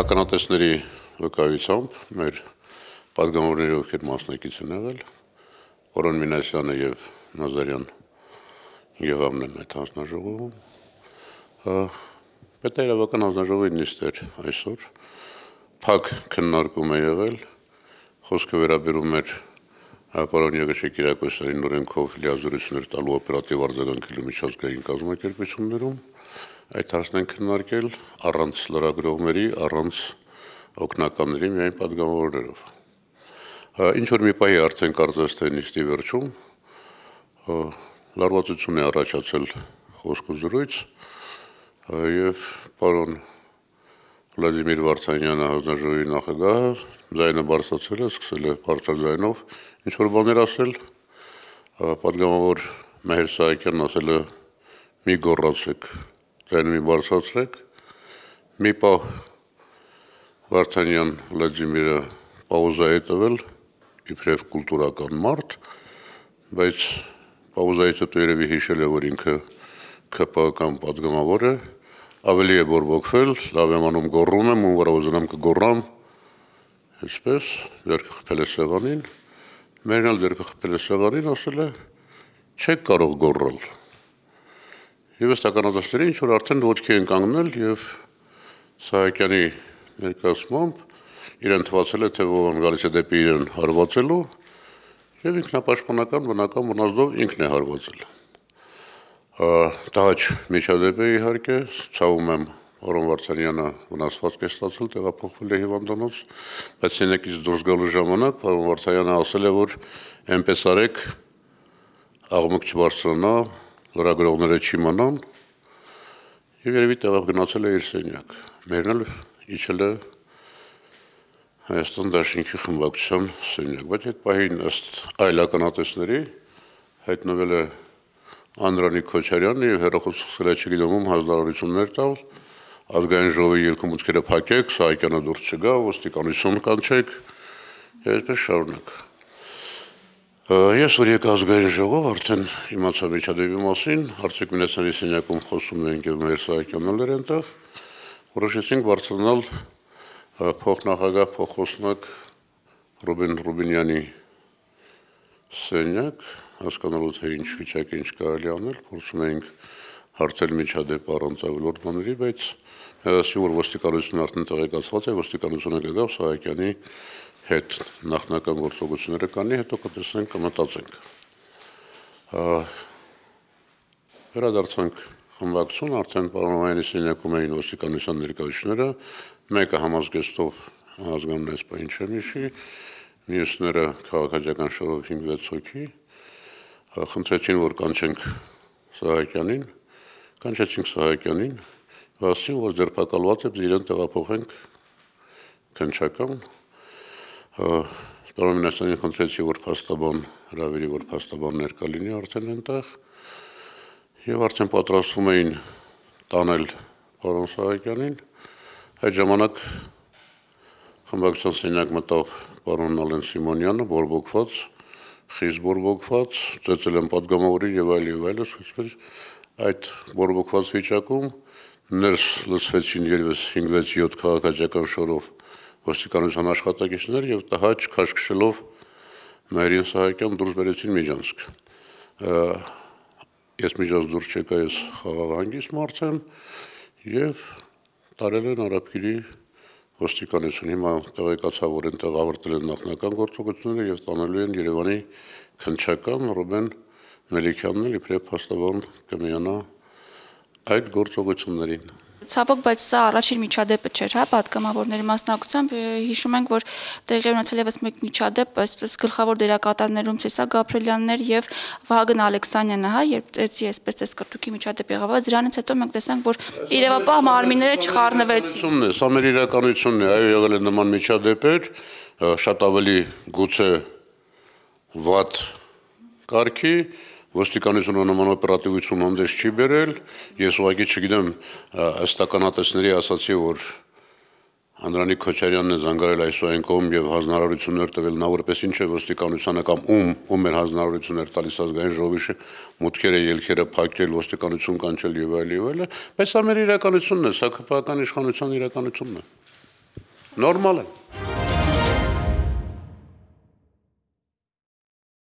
ականատեսների վկայությամբ մեր պատգամավորների ովքեր մասնակից են եղել, Որոն Մինասյանը եւ Նազարյան եղավն են այդ հանձնաժողովում, պետաիրավական հանձնաժողովի նիստեր այսօր, փակ քննարկում է եղել, խոսքը վերաբերում էր պարոն Եղիշե Կիրակոսյանի օրենքով լիազորություններ տալու օպերատիվ արձագանքելու միջազգային կազմակերպություններում, այդ հարցն են քննարկել առանց լրագրողների, առանց օգնականների, միայն պատգամավորներով։ Ինչ որ մի պահի արդեն կարծես թե նիստի վերջում լարվածություն է առաջացել խոսք ու զրույց եւ պարոն Վլադիմիր Վարդանյանը հանձնաժողովի նախագահը ձայնը բարձրացել է, սկսել է բարձր ձայնով ինչ որ բաներ ասել, պատգամավոր Մեհեր Սահակյանն ասել է մի գոռացեք, ձայնը մի բարձրացրեք, մի պահ Վարդանյան Վլադիմիրը պաուզա է տվել, իբրև կուլտուրական մարդ, բայց պաուզայից հետո երևի հիշել է, որ ինքը ԿՊ-ական պատգամավոր է, ավելի է բորբոքվել, լավ եմ անում գոռում եմ, ում վրա ուզենամ կգոռամ, այսպես, ձեռքը խփել է սեղանին, մերն էլ ձեռքը խփել է սեղանին, ասել է, չեք կարող գոռալ։ Եվ ըստ ականատեսների ինչ որ արդեն ոտքի են կանգնել եւ Սահակյանի ներկայացմամբ իրեն թվացել է, թե ով գալիս է դեպի իրեն հարվածելու եւ ինքնապաշտպանական բնական մնացդով ինքն է հարվածել։ Տահաճ միջադեպ է իհարկե, ցավում եմ Որոն Վարդանյանը վնասվածք է ստացել, տեղափոխվել է հիվանդանոց, բայց սենյակից դուրս գալու ժամանակ պարոն Վարդանյանը ասել է, որ այնպես արեք աղմուկ չբարձրանա, լրագրողները չիմանան եւ երևի տեղավ գնացել է իր սենյակ։ Մերն էլ իջել է Հայաստան Դաշինքի խմբակցության սենյակ, բայց այդ պահին ըստ այլ ականատեսների հայտնվել է Անդրանիկ Քոչարյանը եւ հերոխոսը սկսել է չգիտեմ ում հանձնարարություններ տալ, ազգային ժողովի ելքումուտքերը փակեք, Սահակյանը դուրս չգա, ոստիկանություն կանչեք, եւ այդպես շարունակ։ Ես որ եկա ազգային ժողով, արդեն իմացա միջադեպի մասին, Արծիք Մինասյանի սենյակում խոսում էինք եւ Մեհեր Սահակյանն էր այնտեղ, որոշեցինք բարձրանալ փոխնախագահ փոխոսնակ Ռուբեն Ռուբինյանի սենյակ, հասկանալու թե ինչ վիճակ է, ինչ կարելի անել, փորձում էինք հարցել միջադեպ առանց ավելորդ բաների, բայց ասի որ ոստիկանությունը արդեն տեղեկացված է, ոստիկանությունը կգա Սահակյանի հետ նախնական գործողությունները կանի, հետո կտեսնենք, կմտածենք։ Վերադարձանք խմբակցություն, արդեն պարոնայինի սենյակում էին ոստիկանության ներկայացուցիչները, մեկը համազգեստով ազգանուն այս պահին չեմ հիշի, մյուսները քաղաքացիական շորով 5-6 հոգի, խնդրեցին, որ կանչենք Սահակյանին, կանչեցինք Սահակյանին, ասացին, որ ձերբակալված է, իրեն տեղափոխենք քննչական, պարոն Մինասյանին խնդրեցի, որ փաստաբան հրավիրի, որ փաստաբան ներկա լինի արդեն այնտեղ, եւ արդեն պատրաստվում էին տանել պարոն Սահակյանին, այդ ժամանակ խմբակցության սենյակ մտավ պարոն Ալեն Սիմոնյանը, բորբոքված, խիստ բորբոքված, ծեծել են պատգամավորին եւ այլս, այդ բորբոքված վիճակում ներս լցվեցին 5-6-7 քաղաքացիական շորով ոստիկանության աշխատակիցներ եւ տհաճ քաշքշելով Մեհեր Սահակյան դուրս բերեցին Միջանցք։ Ես Միջանցք դուրս չեկա, ես խաղաղ հանգիստ մարդ եմ եւ տարել են Արաբկիրի ոստիկանություն։ Հիմա տեղեկացա, որ այնտեղ ավարտել են նախնական գործողությունները եւ տանելու են Երևանի քննչական Ռուբեն Մելիքյանն էլ իբրև փաստաբան կմիանա այդ գործողություններին։ Ցավոք, բայց սա առաջին միջադեպը չէր, հա, պատգամավորների մասնակցությամբ հիշում ենք, որ տեղի ունեցել եւս մեկ միջադեպ, այսպես գլխավոր դերակատարներում Սեսա Գաբրելյաններ եւ Վահագն Ալեքսանյանը, հա, երբ ծեցի այսպես էս կրտուկի միջադեպ եղավ, դրանից հետո մենք տեսանք, որ իրավապահ մարմինները չխառնվեցին։ Սա մեր իրականությունն է, այո, եղել է նման միջադեպեր, շատ ավելի գուցե վատ կարգի ոստիկանությունը նման օպերատիվություն հանդես չի բերել, ես ուղղակի չգիտեմ, ըստ ականատեսների ասացի, որ Անդրանիկ Քոչարյանն է զանգարել այսօր կողմ եւ հանձնարարություններ տվել, նա որպես ինչ է ոստիկանությանը կամ ում էր հանձնարարություններ տալիս ազգային ժողովի մուտքերը, ելքերը փակել, ոստիկանություն կանչել եւ այլ, բայց սա մեր իրականությունն է, սա ԿՊ-ական իշխանության իրականությունն է։ Նորմալ է։